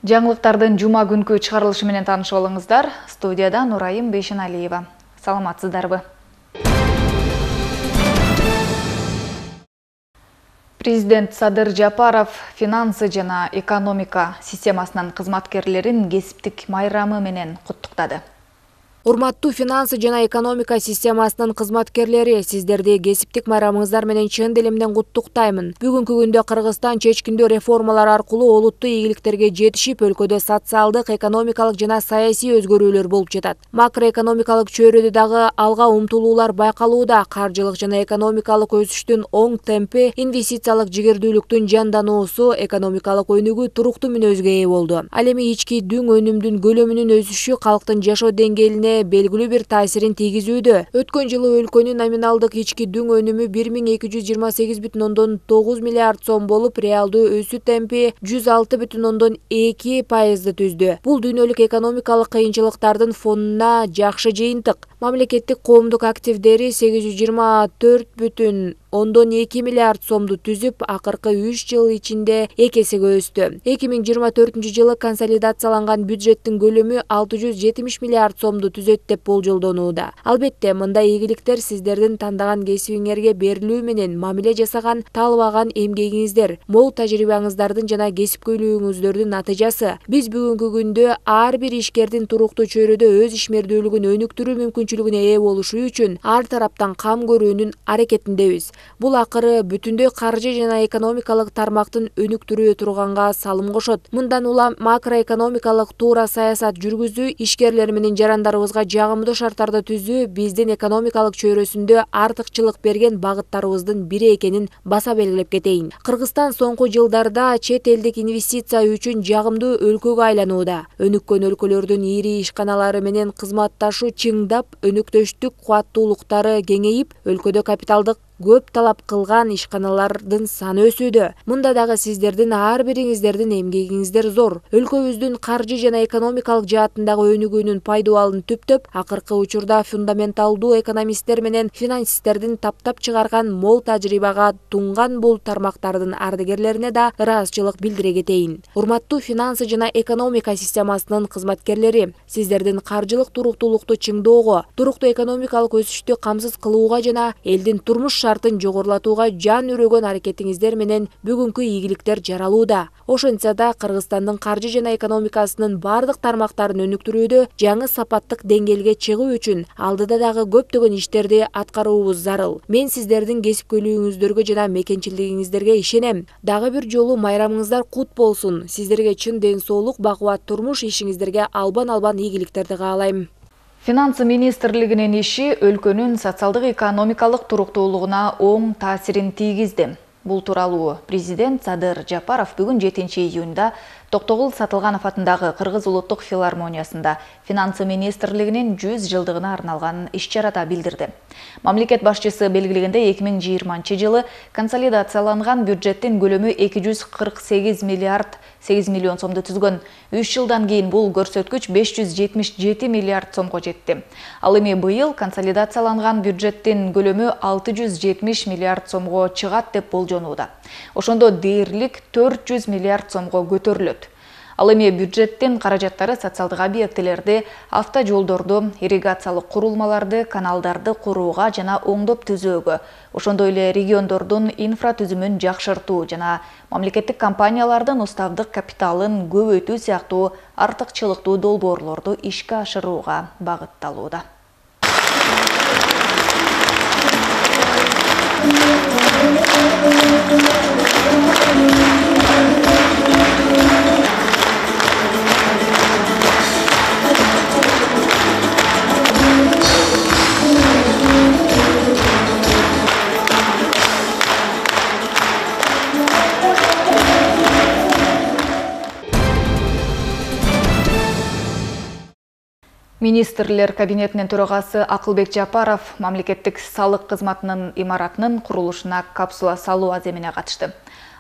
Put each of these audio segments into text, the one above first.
Жаңылыктардын жума күнкү чыгарылышы менен таанышып алыңыздар. Студияда Нурайым Бейшеналиева. Саламатсыздарбы? Президент Садыр Жапаров финансы жана экономика системасынын кызматкерлерин кесиптик майрамы менен куттуктады. Урматтуу финансы жана экономика системасынын кызматкерлери, сиздерди кесиптик майрамыңыздар менен чын диlimden куттуктаймын. Бүгүнкү күндө Кыргызстан чечкиндүү реформалар аркылуу олуттуу ийгиликтерге жетишип, өлкөдө социалдык, экономикалык жана саясий өзгөрүүлөр болуп жатат. Макроэкономикалык чөйрөдө дагы алга умтулуулар байкалууда. Каржылык жана экономикалык өсүштүн оң темпи, инвестициялык жигердүүлүктүн жандануусу, экономикалык өнүгүү туруктуу мүнөзгө ээ болду. Ал эми ички дүң өнүмдүн көлөмүнүн өсүшү калктын жашоо деңгээлине белгилүү бир таасирин тийгизүүдө. Өткөн жылы өлкөнүн номиналдык ички дүң өнүмү 1228,9 миллиард сом болуп, реалдуу өсүү темпи 106,2% түздү. Бул дүйнөлүк экономикалык кыйынчылыктардын фонуна жакшы жыйынтык. Мамлекеттик коомдук активдери 820,2 миллиард сомду түзүп, акыркы 3 жыл ичинде 2 эсеге өстү. 2024 жылы консолидацияланган бюджеттин көлөмү 670 миллиард сомду түзөт деп болжолдонууда. Албетте, мындай ийгиликтер сиздердин тандаган кесибиңерге берилүү менен мамиле жасаган, талбаган эмгегиңиздер, мол тажрыйбаңыздардын жана кесипкөйлүгүңүздөрдүн натыйжасы. Биз бүгүнкү күндө ар бир ишкердин туруктуу чөйрөдө өз ишмердүүлүгүн өнүктүрүү мүмкүнчүлүгүнө ээ болушу үчүн ар тараптан кам көрүүнүн аракетиндебиз. Бул акыры бүтүндөй каржы жана экономикалык тармактын өнүктүрүү турганга салым кошот. Мындан улам макроэкономикалык туура саясат жүргүзүү, ишкерлер менен жарандарыбызга жагымдуу шарттарды түзүү биздин экономикалык чөйрөсүндө артыкчылык берген багыттарыбыздын бири экенин баса белгилеп кетейин. Кыргызстан соңку жылдарда чет элдик инвестиция үчүн жагымдуу өлкөгө айланууда. Өнүккөн өлкөлөрдүн ири ишканалары менен кызматташуу чыңдап, өнөктөштүк кубаттуулуктары кеңейип, өлкөдө капиталдык көп талап кылган ишканалардын саны өсүүдө. Мында дагы сиздердин ар бириңиздердин эмгегиңиздер зор. Өлкөбүздүн каржы жана экономикалык жаатындагы өнүгүүнүн пайдубалын түптөп, акыркы учурда фундаменталдуу экономисттер менен финансисттердин таптап чыгарган мол тажрыйбага тунган бул тармактардын ардыгерлерине да ыраазычылык билдире кетейин. Урматтуу финансы жана экономика системасынын кызматкерлери, сиздердин каржылык туруктуулукту чыңдоого, туруктуу экономикалык өсүштү камсыз кылууга жана элдин турмуш шартын жогорулатууга жан үрөгөн аракетиңиздер менен бүгүнкү ийгиликтер жаралууда. Ошентсе да Кыргызстандын каржы жана экономикасынын бардык тармактарын өнүктүрүүдө жаңы сапаттык деңгээлге чыгуу үчүн алдыда дагы көптөгөн иштерди аткаруубуз зарыл. Мен сиздердин кесипкөйлүгүңүздөргө жана мекенчилигиңиздерге ишенем. Дагы бир жолу майрамыңыздар кут болсун. Сиздерге чын ден соолук, бакубат турмуш, ишиңиздерге албан ийгиликтерди каалайм. Финансы министрлигинин иши өлкөнүн социалдык-экономикалык туруктуулугуна оң таасирин тийгизди. Бул тууралуу президент Садыр Жапаров бүгүн 7-июнда Токтогул Сатылганов атындагы Кыргыз улуттук филармониясында финансы министрлигинин 100 жылдыгына арналган иш-чарада билдирди. Мамлекет башчысы белгилегендей 2020 жылы консолидацияланган бюджеттин көлөмү 248 миллиард 8 миллион сомду түзгөн. 3 жылдан кийин бул көрсөткүч 577 миллиард сомго жетти. Ал эми быйыл консолидацияланган бюджеттин көлөмү 670 миллиард сомго чыгат деп болжонууда. Ошондо дээрлик 400 миллиард сомго көтөрүлөт. Ал эми бюджеттин каражаттары социалдык объектилерди, автожолдорду, ирригациялык курулмаларды, каналдарды курууга жана оңдоп түзөөгө, ошондой эле региондордун инфратүзүмүн жакшыртуу жана мамлекеттик компаниялардын уставдык капиталын көбөйтүү сыяктуу артыкчылыктуу долбоорлорду ишке ашырууга багытталууда. Министрлер кабинетинин төрагасы Акылбек Жапаров мамлекеттик салык кызматынын имаратынын курулушуна капсула салуу аземине катышты.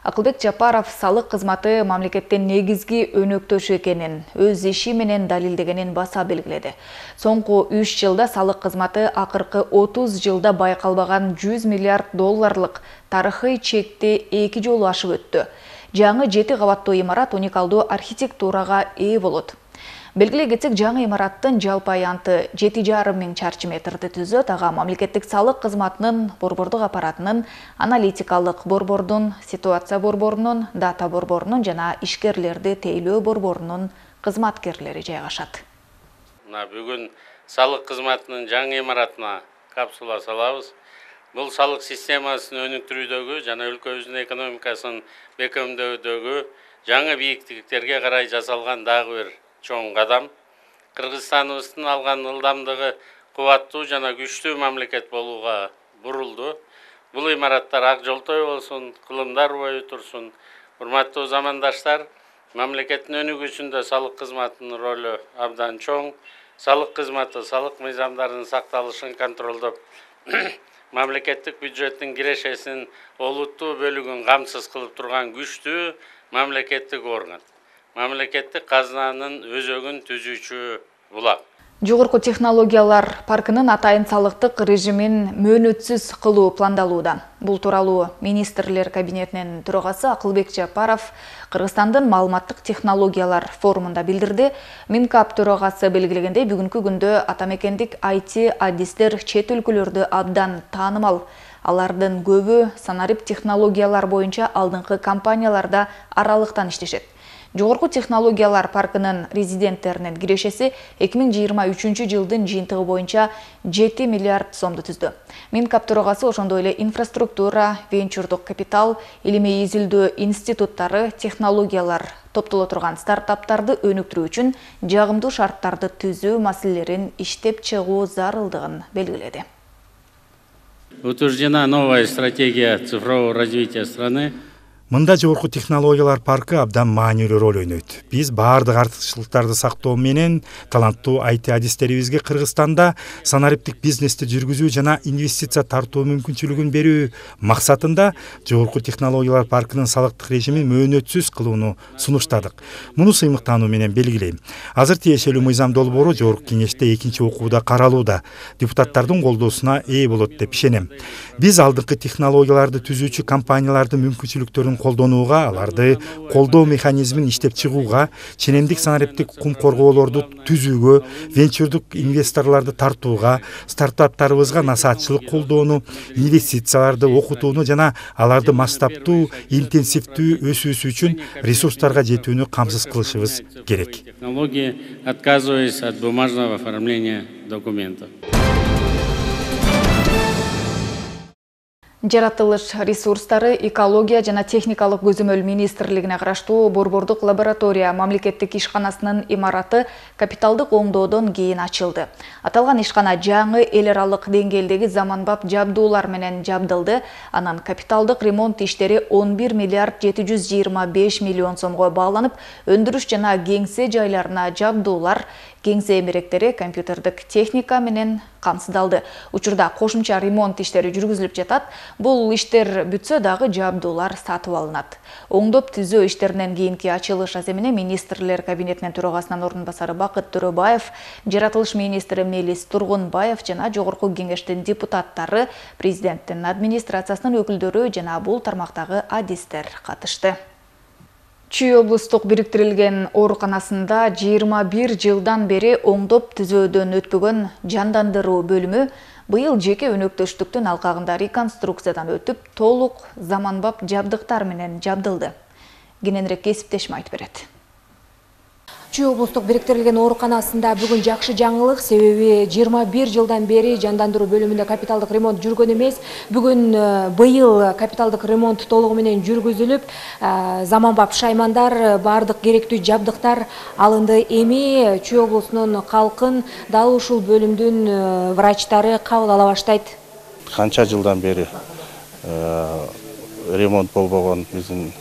Акылбек Жапаров салык кызматы мамлекеттин негизги өнөктөшү экенин, өз иши менен далилдегенин баса белгиледи. Соңку 3 жылда салык кызматы акыркы 30 жылда байкалбаган 100 миллиард долларлык тарыхый чекти 2 жолу ашып өттү. жаңы 7 кабаттуу имарат уникалдуу архитектурага ээ болот. Белгилей кетсек, жаңы имараттын жалпы аянты 7,5 миң чарчы метрди түзөт. Ага мамлекеттик салык кызматынын борбордук аппаратынын, аналитикалык борбордун, ситуация борборунун, дата борборунун жана ишкерлерди тейлөө борборунун кызматкерлери жайгашат. Бүгүн салык кызматынын жаңы имаратына капсула салабыз. Бул салык системасын өнүктүрүүдөгү жана өлкөбүздүн экономикасын бекемдөөдөгү жаңы бийиктиктерге карай жасалган дагы бир чоң кадам. Кыргызстаныбыздын алган ылдамдыгы кубаттуу жана күчтүү мамлекет болууга бурулду. Бул имараттар ак жолтой болсун, кылымдар бою турсун. Урматтуу замандаштар, мамлекеттин өнүгүүсүндө салык кызматынын ролу абдан чоң. Салык кызматы салык мыйзамдарынын сакталышын контролдоп, мамлекеттик бюджеттин кирешесинин олуттуу бөлүгүн камсыз кылып турган күчтүү мамлекеттик орган. Мамлекеттик казынанын өзөгүн түзүүчү булак. Жогорку технологиялар паркынын атайын салыктык режимин мөөнөтсүз кылуу пландалууда. Бул тууралуу министрлер кабинетинин төрагасы Акылбек Жапаров Кыргызстандын маалыматтык технологиялар форумунда билдирди. Минкап төрагасы белгилегендей, бүгүнкү күндө атамекендик IT адистер чет өлкөлөрдө абдан таанымал. Алардын көбү санарип технологиялар боюнча алдыңкы компанияларда аралыктан иштешет. Жогорку технологиялар паркынын резиденттеринин кирешеси 2023 жылдын жыйынтыгы боюнча 7 миллиард сомду түздү. Минкап төрагасы ошондой эле инфраструктура, венчурдук капитал, илимий изилдөө институттары, технологиялар топтоло турган стартаптарды өнүктүрүү үчүн жагымдуу шарттарды түзүү маселелерин иштеп чыгуу зарылдыгын белгиледи. Утверждена новая стратегия цифрового развития страны. Мында жогорку технологиялар паркы абдан маанилүү роль ойнойт. Биз баардык артыкчылыктарды сактоо менен таланттуу IT адистерибизге Кыргызстанда санариптик бизнести жүргүзүү жана инвестиция тартуу мүмкүнчүлүгүн берүү максатында жогорку технологиялар паркынын салыктык режимин мөөнөтсүз кылууну сунуштадык. Муну сыймыктануу менен белгилейм. Азыр тиешелүү мыйзам долбоору жогорку кеңеште экинчи окууда каралууда. Депутаттардын колдоосуна ээ болот деп ишенем. Биз алдыңкы технологияларды түзүүчү компаниялардын мүмкүнчүлүктөрүн колдонууга, аларды колдоо механизмин иштеп чыгууга, ченемдик санариптик кум коргоолорду түзүүгө, венчурдук инвесторлорду тартууга, стартаптарыбызга насаатчылык колдоону, инвестицияларды окутууну жана аларды масштабтуу, интенсивдүү өсүүсү үчүн ресурстарга жетүүнү камсыз кылышыбыз керек. Технологии, отказываясь от бумажного оформления документов. Жаратылыш ресурстары, экология жана техникалык көзөмөл министрлигине караштуу борбордук лаборатория мамлекеттик ишканасынын имараты капиталдык оңдоодон кийин ачылды. Аталган ишкана жаңы эл аралык деңгээлдеги заманбап жабдуулар менен жабдылды. Анан капиталдык ремонт иштери 11 миллиард 725 миллион сомго бааланып, өндүрүш жана кеңсе жайларына жабдуулар, кеңсе эмеректери, компьютердик техника менен камсыздалды. Учурда кошумча ремонт иштери жүргүзүлүп жатат. Бул иштер бүтсө дагы жабдуулар сатып алынат. Оңдоп түзөө иштеринен кийинки ачылыш аземине министрлер кабинетинин төрагасынын ордун басары Бакыт Төрөбаев, жаратылыш министри Мелис Тургунбаев жана жогорку кеңештин депутаттары, президенттин администрациясынын өкүлдөрү жана бул тармактагы адистер катышты. Чүй облустук бириктирилген ооруканасында 21 жылдан бери оңдоп түзөөдөн өтпөгөн жандандыруу бөлүмү быйыл жеке өнөктөштүктүн алкагында реконструкциядан өтүп, толук заманбап жабдыктар менен жабдылды. Кененирээк кесиптешим айтып берет. Чүй облустук бириктирилген ооруканасында бүгүн жакшы жаңылык, себеби 21 жылдан бери жандандыруу бөлүмүндө капиталдык ремонт жүргөн эмес. Бүгүн быйыл капиталдык ремонт толугу менен жүргүзүлүп, заманбап шаймандар, баардык керектүү жабдыктар алынды. Эми Чүй облусунун калкын дал ушул бөлүмдүн врачтары кабыл ала баштайт. Канча жылдан бери ремонт болбогон биздин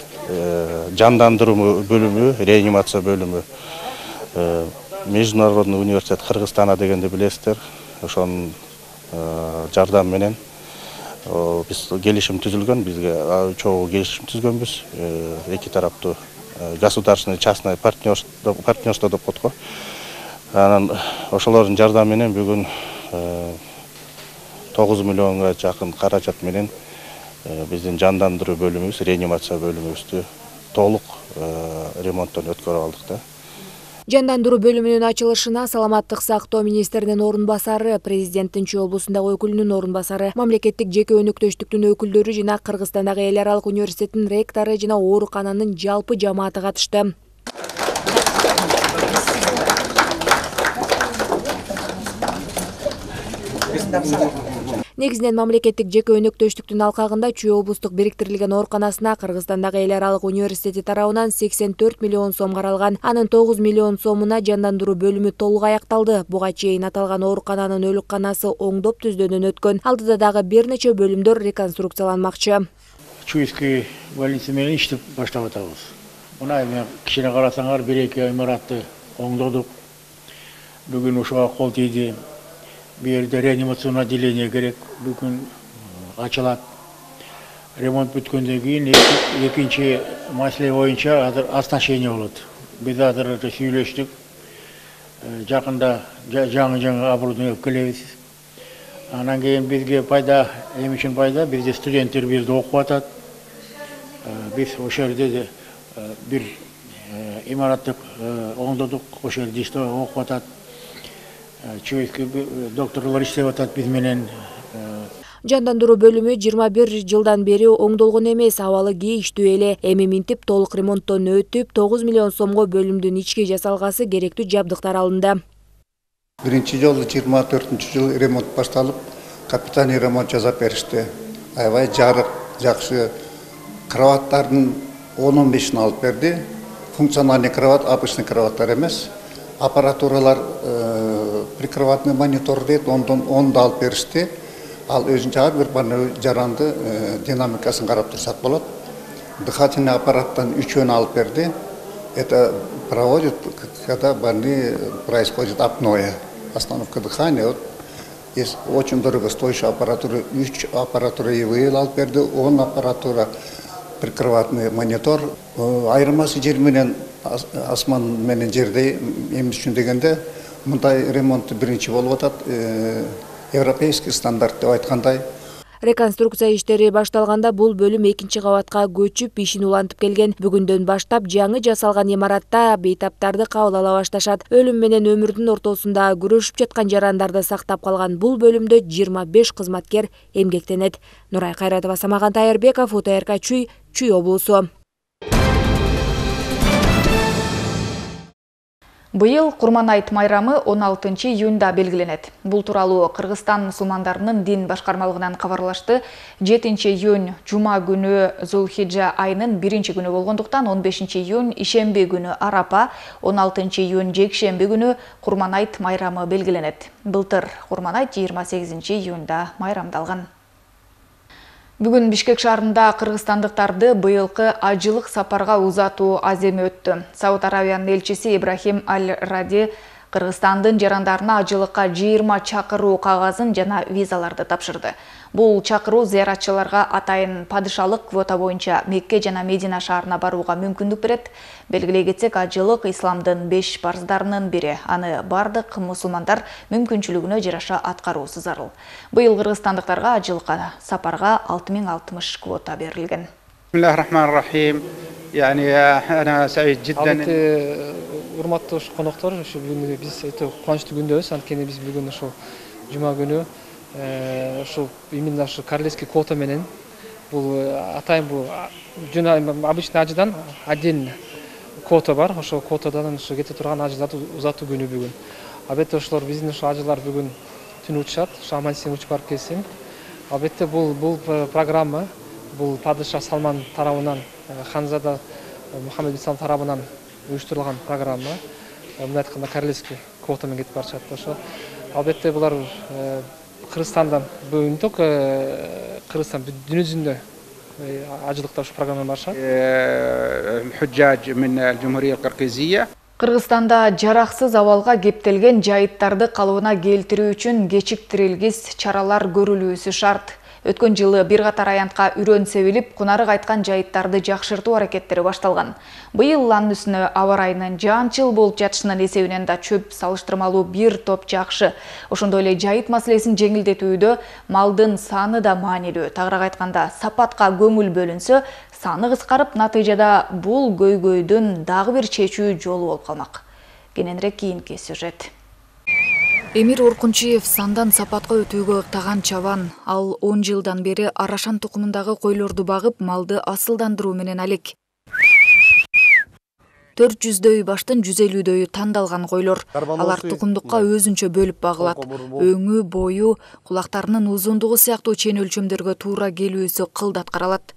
жандандыруу бөлүмү, реанимация бөлүмү, Международный университет Кыргызстана дегенди билесиздер. Ошонун жардамы менен биз келишим түзүлгөн, бизге чогуу келишим түзгөнбүз. Эки тараптуу государственный частный партнерство деп коет го. Анан ошолордун жардамы менен бүгүн 9 миллионго жакын каражат менен биздин жандандыруу бөлүмүбүз, реанимация бөлүмүбүздү толук ремонттон өткөрүп алдык да. Жандандыруу бөлүмүнүн ачылышына саламаттык сактоо министринин орун басары, президенттин Чүй облусундагы өкүлүнүн орун басары, мамлекеттик жеке өнөктөштүктүн өкүлдөрү жана Кыргызстандагы эл аралык университеттин ректору жана оорукананын жалпы жамааты катышты. Негизинен мамлекеттик жеке өнөктөштүктүн алкагында Чүй облустук бириктирилген ооруканасына Кыргызстандагы эл аралык университети тарабынан 84 миллион сом каралган. Анын 9 миллион сомуна жандандыруу бөлүмү толук аякталды. Буга чейин аталган оорукананын өлүкканасы оңдоп түздөөдөн өткөн. Алдыда дагы бир нече бөлүмдөр реконструкцияланмакчы. Чуйский больница менен иштеп баштап атабыз. Мына эми кичине карасаңар, 1-2 имаратты оңдодук. Бүгүн ушуга кол тийди. Bu yerde reanimasyon отделение керек, бүгүн ачылат. Ремонт бүткөндөн кийин экинчи маселе боюнча азыр оснащение болот. Биз азыр сүйлөштүк. Жакында жаңы оборудование келебиз. Анан кийин бизге пайда, эми үчүн пайда, бизде студенттер бизде окуп атат. Биз ошол жерде бир имараттык оңдодук, ошол жерде окуп атат. Чуйский докторлор иштеп атат биз менен. Жандандыруу бөлүмү 21 жылдан бери оңдолгон эмес, абалы кейиштүү эле. Эми минтип толук ремонттон өтүп, 9 миллион сомго бөлүмдүн ички жасалгасы керектүү жабдыктар алынды. Биринчи жолу 24-жылы ремонт башталып, капитальный ремонт жасап беришти. Аябай жарык, жакшы. Кроваттардын 10-15-ин алып берди. Функциональный кроват, обычный кроваттар эмес. Аппаратуралар прикроватный монитор дейт, онду алып беришти. Ал өзүнчө ар бир жаранды динамикасын карап турсак болот. Дыхательный аппараттан 3-өн алып берди. Это проводит, когда больные происходит апноэ, остановка дыхания. Вот есть очень дорогостоящая аппаратура, 3 аппаратура ИВЛ алып берди, 10 аппаратура прикроватный монитор. Айырмасы жер менен асман менен жердей эмес үчүн дегенде, мындай ремонт биринчи болуп атат. Европейский стандарт деп айткандай. Реконструкция иштери башталганда бул бөлүм экинчи кабатка көчүп, ишин улантып келген. Бүгүндөн баштап жаңы жасалган имаратта бейтаптарды кабыл ала башташат. Өлүм менен өмүрдүн ортосунда күрөшүп жаткан жарандарды сактап калган бул бөлүмдө 25 кызматкер эмгектенет. Нурай Кайратова, Самаган Тайырбеков, УТРК Чүй облусу. Быйыл Курманайт майрамы 16 июнда белгиленет. Бул тууралуу Кыргызстан мусулмандарынын дин башкармалыгынан кабарлашты. 7 июнь жума күнү Зулхиджа айынын 1-күнү болгондуктан 15 июнь ишемби күнү Арапа, 16 июнь жекшемби күнү Курманайт майрамы белгиленет. Былтыр Курманайт 28 июнда майрамдалган. Бүгүн Бишкек шаарында кыргызстандыктарды быйылкы ажылык сапарга узатуу аземи өттү. Сауд Арабиянын элчиси Ибрахим Аль-Ради Кыргызстандын жарандарына ажылыкка 20 чакыруу кагазын жана визаларды тапшырды. Бул чакыруу зыяратчыларга атайын падышалык квота боюнча Мекке жана Медина шаарына барууга мүмкүндүк берет. Белгилей кетсек, ажылык исламдын 5 парыздарынын бири. Аны бардык мусулмандар мүмкүнчүлүгүнө жараша аткаруусу зарыл. Быйыл кыргызстандыктарга ажылыкка сапарга 6060 квота берилген. Бисмиллахир-рахманир-рахим. Ana sa'id jiddan. Урматтуу коноктор, ушу бүгүн биз кубанычтуу күндөбүз. Анткени биз бүгүн ушу жума күнү ушу именно ушу королевский квота менен бул атайын бул жана обычный ажыдан отдельно квота бар. Ошол квотадан ушу кете турган ажыларды узатуу күнү бүгүн. Албетте ошолор биздин ушу ажылар бүгүн түнү учат, ушу аман-эсен учуп барып келсин. Албетте бул программа бул падыша Салман тарабынан, ханзада Мухаммед бин Салман тарабынан уюштурулган программа. Мындай айтканда королевский квотамен кетип барышат. Ошо албетте булар Кыргызстандан бүгүн ток Кыргызстан дүнү жүзүндө ажылыкта ушу программаны барышат. Худжаж мин al-Jumhuriyya al-Qirgiziyya. Кыргызстанда жараксыз абалга кептелген жайыттарды калыбына келтирүү үчүн кечиктирилгис чаралар көрүлүүсү шарт. Өткөн жылы бир катар аянтка үрөн себилип, кунары кайткан жайыттарды жакшыртуу аракеттери башталган. Быйыл анын үстүнө аба ырайынын жаанчыл болуп жатышынын эсебинен да чөп салыштырмалуу бир топ жакшы. Ошондой эле жайыт маселесин жеңилдетүүдө малдын саны да маанилүү. Тагыраак айтканда, сапатка көңүл бөлүнсө, саны кыскарып, натыйжада бул көйгөйдүн дагы бир чечүү жолу болуп калмак. Кененирээк кийинки сюжет. Эмир Оркунчиев сандан сапатка өтүүгө ыктаган чабан. Ал 10 жылдан бери арашан тукумундагы койлорду багып, малды асылдандыруу менен алек. 400дөй баштын 150дөйү тандалган койлор. Алар тукумдукка өзүнчө бөлүп багылат. Өңү, бою, кулактарынын узундугу сыяктуу чен өлчөмдөргө туура келүүсү кылдат каралат.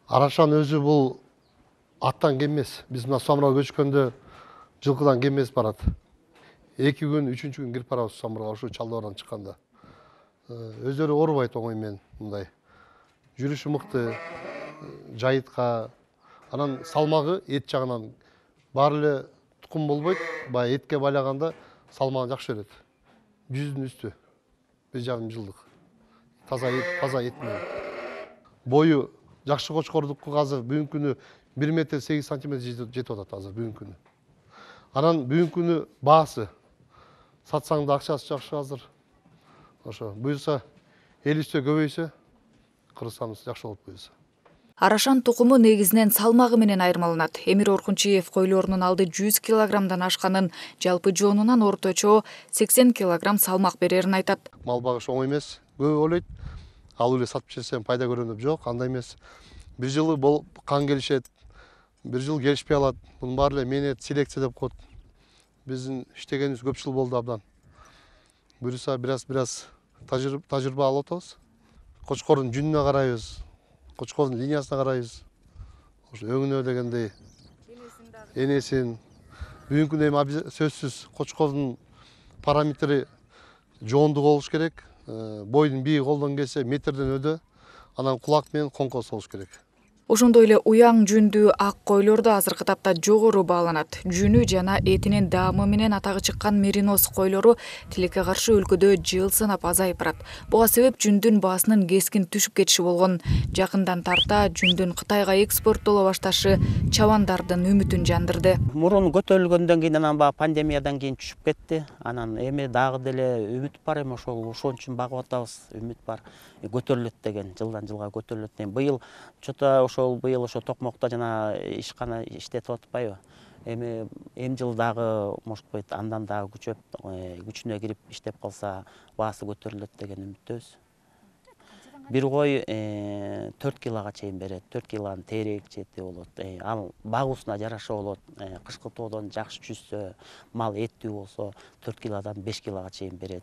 Арашан өзү бул аттан кемес. Биз мына Самурга көчкөндө жылкыдан кемес барат. 2 күн, 3-чү күн кирип барабыз Самурга, ошо Чалдыбардан чыкканда. Өздөрү оорубайт оңой менен мындай. Жүрүшү мыкты, жайытка, анан салмагы эт жагынан баары эле тукум болбойт. Баягы этке байлаганда салмагы жакшы берет. 100дүн үстү. 1,5 жылдык. Таза эт менен. Бою жакшы кочкордуку азыр бүгүнкү күнү 1 метр 8 сантиметр жетип атат азыр бүгүнкү күнү. Анан бүгүнкү күнү баасы сатсаң да акчасы жакшы азыр. Ошо буюрса эл үстө көбөйсө, Кыргызстаныбыз жакшы болуп буюрса. Арашан тукуму негизинен салмагы менен айырмаланат. Эмир Оркунчиев койлорунун алды 100 килограммдан ашканын, жалпы жоонунан орточо 80 килограмм салмак берерин айтат. Мал багыш оңой эмес, көп ойлойт. Алып эле сатып жесем пайда көрөм деп жок, андай эмес. Бир жылы болуп кан келишет, бир жыл келишпей алат. Бунун баары эле менет селекция деп коет. Биздин иштегенибиз көп жыл болду абдан. Буюрса бираз тажрыйба алып атабыз. Кочкордун жүнүнө карайбыз, кочкордун линиясына карайбыз. Ошо өңүнө дегендей энесин. Бүгүнкү күндө эми сөзсүз кочкордун параметри жоондугу болуш керек. Бойдун бийиги колдон келсе метрден өдө, анан кулак менен коңкос болуш керек. Ошондой эле уяң жүндүү ак койлор да азыркы тапта жогору бааланат. Жүнү жана этинин даамы менен атагы чыккан мериноз койлору тилекке каршы өлкөдө жыл санап азайып барат. Буга себеп жүндүн баасынын кескин түшүп кетиши болгон. Жакындан тарта жүндүн Кытайга экспорттоло башташы чабандардын үмүтүн жандырды. Мурун көтөрүлгөндөн кийин анан баягы пандемиядан кийин түшүп кетти. Анан эми дагы деле үмүт бар, эми ошол үчүн багып атабыз. Үмүт бар. Көтөрүлөт деген, жылдан жылга көтөрүлөт деген. Быйыл быйыл ошо Токмокто жана ишкана иштетип атпайбы. Эми жыл дагы может быть андан дагы күчөп, күчүнө кирип иштеп калса, баасы көтөрүлөт деген үмүттөбүз. Бир кой 4 килога чейин берет, 4 килонун тейрек чети болот. Ал багуусуна жараша болот. Кышкы тоодон жакшы жүзсө, мал эттүү болсо 4 килодан 5 килога чейин берет.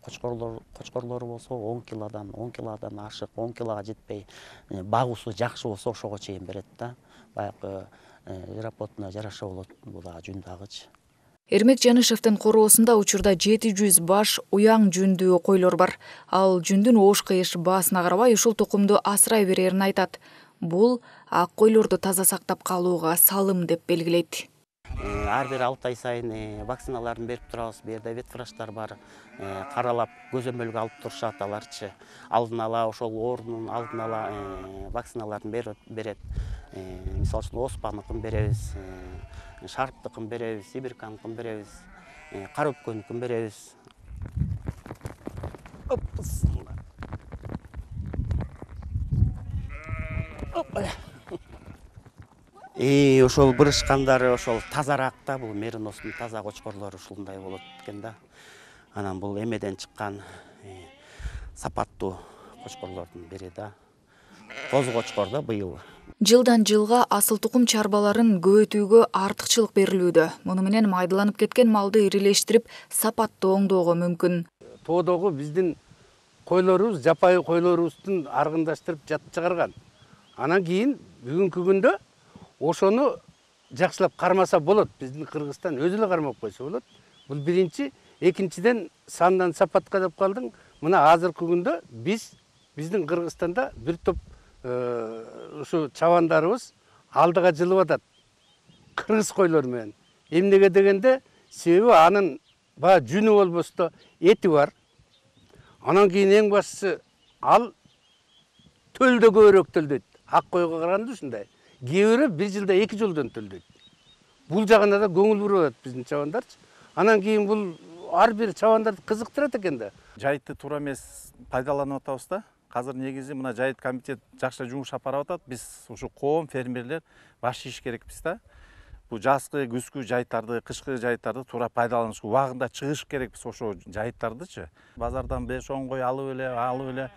Кочкорлору болсо 10 килодан ашык, 10 килога жетпей, багуусу жакшы болсо ошого чейин берет да. Баягы работына жараша болот бул дагы жүн дагычы. Эрмек Жанышевдин короосунда учурда 700 баш уяң жүндүү койлор бар. Ал жүндүн оош-кыйыш баасына карабай ушул тукумду асырай берерин айтат. Бул ак койлорду таза сактап калууга салым деп белгилейт. Ар бир 6 ай сайын вакциналарын берип турабыз. Бу жерде ветврачтар бар. Каралап, көзөмөлгө алып турушат аларчы. Алдын ала ошол оорунун алдын ала вакциналарын берет. Мисалы үчүн оспаныкын беребиз. Шарптыкын беребиз, сибирканыкын беребиз, кара өпкөнүкүн беребиз. Ошол бырышкандары ошол тазараак да, бул мериноздун таза кочкорлору ушундай болот экен да. Анан бул эмеден чыккан сапаттуу кочкорлордун бири да. Тоз кочкор да быйыл. Жылдан жылга асыл тукум чарбаларын көбөйтүүгө артыкчылык берилүүдө. Муну менен майдаланып кеткен малды ирилештирип, сапаттуу оңдоого мүмкүн. Тоодогу биздин койлорубуз, жапайы койлорубуздун аргындаштырып жатып чыгарган. Анан кийин бүгүнкү күндө ошону жакшылап кармаса болот. Биздин Кыргызстан өзү эле кармап койсо болот. Бул биринчи, экинчиден сандан сапатка деп калдың. Мына азыркы күндө биздин Кыргызстанда бир топ ушу чабандарыбыз алдыга жылып атат. Кыргыз койлор менен. Эмнеге дегенде, себеби анын баягы жүнү болбосо эти бар. Анан кийин эң башкысы ал төлдө көбүрөөк төлдөйт. Ак койго караганда ушундай. Кээ бирөө 1 жылда 2 жолдон төлдөйт. Бул жагына да көңүл буруп атат биздин чабандарчы. Анан кийин бул ар бир чабандарды кызыктырат экен да. Жайытты туура эмес пайдаланып атабыз да. Азыр негизи мына жайыт комитет жакшы жумуш алып барып атат. Биз ушу коом фермерлер баш ийиш керекпиз да. Бу жазгы, күзгү жайыттарды, кышкы жайыттарды туура пайдаланышка убагында чыгыш керекпиз ошо жайыттардычы. Базардан 5-10 кой алып эле,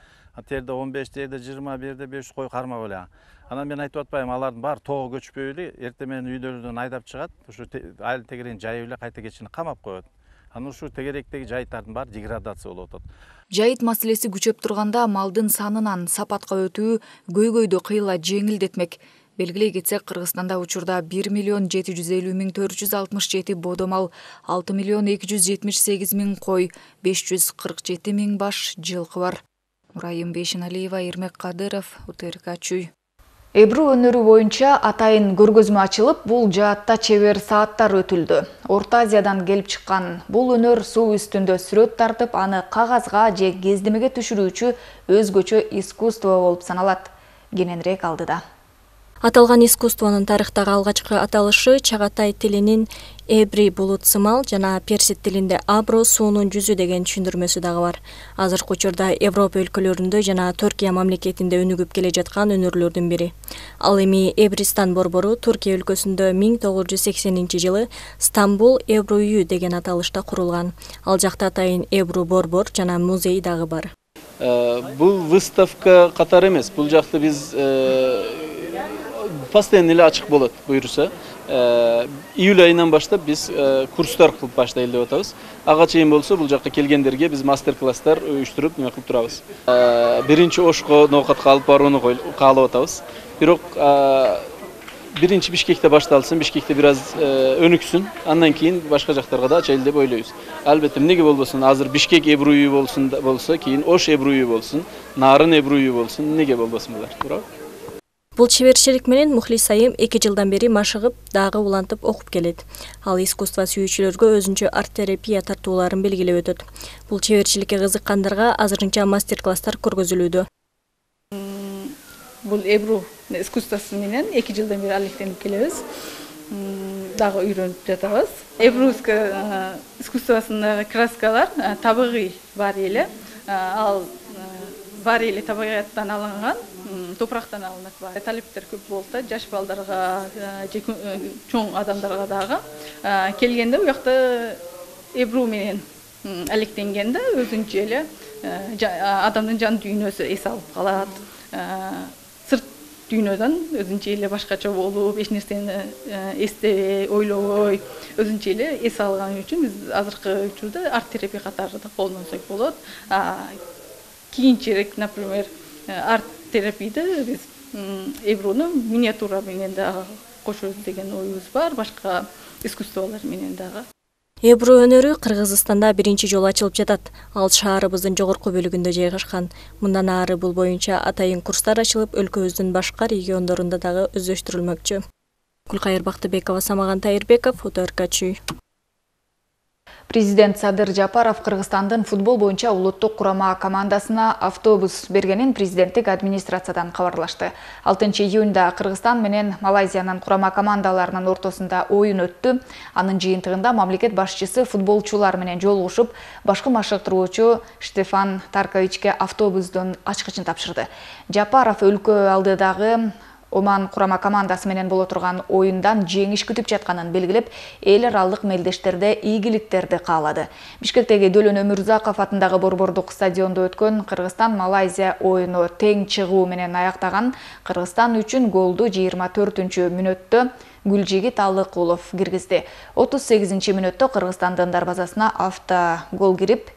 терде 15, терде 20, берде 500 кой кармап эле. Анан мен айтып атпайм, алардын баары тоого көчпөй эле, эртең менен үйлөрүнөн айдап чыгат, ушу айыл тегерен жайып эле кайта кечини камап коет. Анан ушу тегеректеги жайыттардын баары деградация болуп атат. Жайыт маселеси күчөп турганда малдын санынан сапатка өтүү көйгөйдү кыйла жеңилдетмек. Белгилей кетсек, Кыргызстанда учурда 1.750.467 бодо мал, 6.278.000 кой, 547.000 баш жылкы бар. Урайым Бейшеналиева, Эрмек Кадыров, УТРК Чүй. Эбру өнөрү боюнча атайын көргөзмө ачылып, бул жаатта чебер сааттар өтүлдү. Орто Азиядан келип чыккан бул өнөр суу үстүндө сүрөт тартып, аны кагазга же кездемеге түшүрүүчү өзгөчө искусство болуп саналат. Кененирээк алдыда. Аталган искусствонун тарыхтагы алгачкы аталышы чагатай тилинин эбри булут сымал жана персид тилинде абро суунун жүзү деген түшүндүрмөсү дагы бар. Азыркы учурда Европа өлкөлөрүндө жана Түркия мамлекетинде өнүгүп келе жаткан өнөрлөрдүн бири. Ал эми Эбристан борбору Түркия өлкөсүндө 1980-жылы Стамбул Эбру үйү деген аталышта курулган. Ал жакта атайын Эбру борбор жана музей дагы бар. Бул выставка катары эмес, бул жакта биз постоянно эле ачык болот буюрса. Июль айынан баштап биз курстар кылып баштайлы деп атабыз. Ага чейин болсо бул жакка келгендерге биз мастер-класстар уюштуруп неме кылып турабыз. Биринчи Ошко ноокатка алып барууну каалап атабыз. Бирок биринчи Бишкекте башталсын, Бишкекте бир аз өнүксүн, андан кийин башка жактарга да ачайлы деп ойлойбуз. Албетте эмнеге болбосун, азыр Бишкек Эбру үйү болсо, кийин Ош Эбру үйү болсун, Нарын Эбру үйү болсун, эмнеге болбосун булар, туурабы? Бул чеберчилик менен Мухлис Айым 2 жылдан бери машыгып, дагы улантып окуп келет. Ал искусство сүйүүчүлөргө өзүнчө арт-терапия тартууларын белгилеп өтөт. Бул чеберчиликке кызыккандарга азырынча мастер-класстар көргөзүлүүдө. Бул Эбру искусствосу менен 2 жылдан бери алектенип келебиз. Дагы үйрөнүп жатабыз. Эбру искусствосундагы краскалар табигый бар эле. Ал бар эле табигаттан алынган, топурактан алынат бар. Талептер көп болуп да, жаш балдарга, чоң адамдарга дагы келгенде у жакта Эбру менен алектенгенде өзүнчө эле адамдын жан дүйнөсү эс алып калат. Сырт дүйнөдөн өзүнчө эле башкача болуп, эч нерсени эстебей, ойлобой, өзүнчө эле эс алган үчүн биз азыркы учурда арт-терапия катары да колдонсок болот. Кийинчерээк, например, арт-терапияда биз Эбруну миниатюра менен дагы кошобуз деген оюбуз бар, башка искусстволор менен дагы. Эбру өнөрү Кыргызстанда биринчи жолу ачылып жатат. Ал шаарыбыздын жогорку бөлүгүндө жайгашкан. Мындан ары бул боюнча атайын курстар ачылып, өлкөбүздүн башка региондорунда дагы өздөштүрүлмөкчү. Гүлкайыр Бактыбекова, Самаган Тайырбеков, УТРК Чүй. Президент Садыр Жапаров Кыргызстандын футбол боюнча улуттук курама командасына автобус бергенин президенттик администрациядан кабарлашты. 6-июнда Кыргызстан менен Малайзиянын курама командаларынын ортосунда оюн өттү. Анын жыйынтыгында мамлекет башчысы футболчулар менен жолугушуп, башкы машыктыруучу Штефан Тарковичке автобустун ачкычын тапшырды. Жапаров өлкө алдыдагы Оман курама командасы менен боло турган оюндан жеңиш күтүп жатканын белгилеп, эл аралык мелдештерде ийгиликтерди каалады. Бишкектеги Дөлөн Өмүрзаков атындагы борбордук стадиондо өткөн Кыргызстан-Малайзия оюну тең чыгуу менен аяктаган. Кыргызстан үчүн голду 24-мүнөттө Гүлжигит Алыкулов киргизди. 38-мүнөттө Кыргызстандын дарбазасына автогол кирип,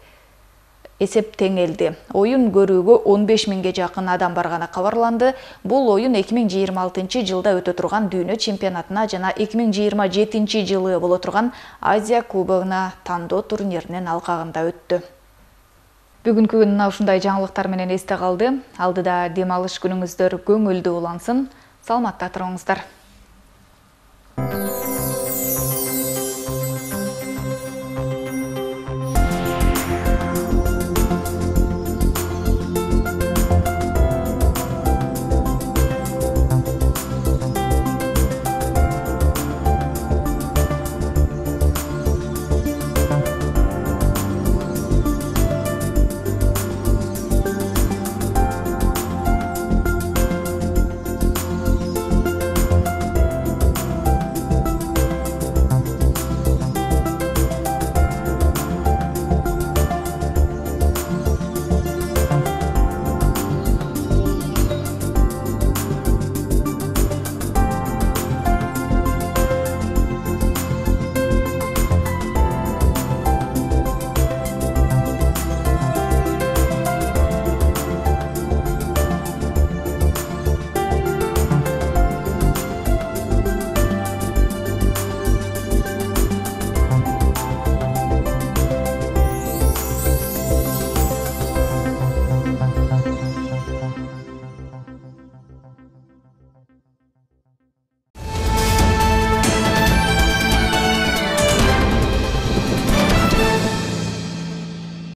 эсеп теңелди. Оюн көрүүгө 15.000ге жакын адам барганы кабарланды. Бул оюн 2026 жылда өтө турган дүйнө чемпионатына жана 2027 жылы боло турган Азия кубогуна тандоо турниринин алкагында өттү. Бүгүнкү күн ушундай жаңылыктар менен эсте калды. Алдыда дем алыш күнүңүздөр көңүлдүү улансын. Саламатта туруңуздар.